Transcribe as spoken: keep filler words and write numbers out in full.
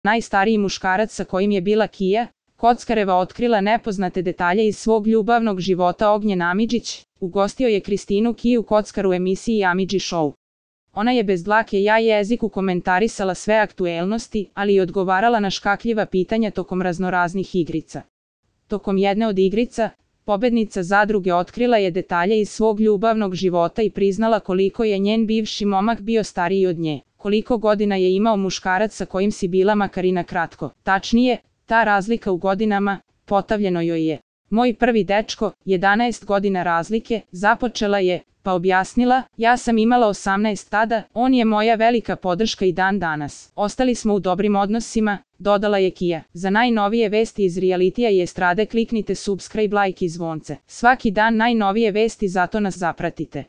najstariji muškarac sa kojim je bila Kija Kockareva otkrila nepoznate detalje iz svog ljubavnog života. Ognjen Amidžić ugostio je Kristinu Kiju Kockar u emisiji Amidži Show. Ona je bez dlake ja jeziku komentarisala sve aktuelnosti, ali i odgovarala na škakljiva pitanja tokom raznoraznih igrica. Tokom jedne od igrica, pobednica zadruge otkrila je detalje iz svog ljubavnog života i priznala koliko je njen bivši momak bio stariji od nje. Koliko godina je imao muškarac sa kojim si bila makar i na kratko. Tačnije, ta razlika u godinama, potavljeno joj je. Moj prvi dečko, jedanaest godina razlike, započela je, pa objasnila, ja sam imala osamnaest tada, on je moja velika podrška i dan danas. Ostali smo u dobrim odnosima, dodala je Kija. Za najnovije vesti iz realitija i estrade kliknite subscribe, like i zvonce. Svaki dan najnovije vesti, zato nas zapratite.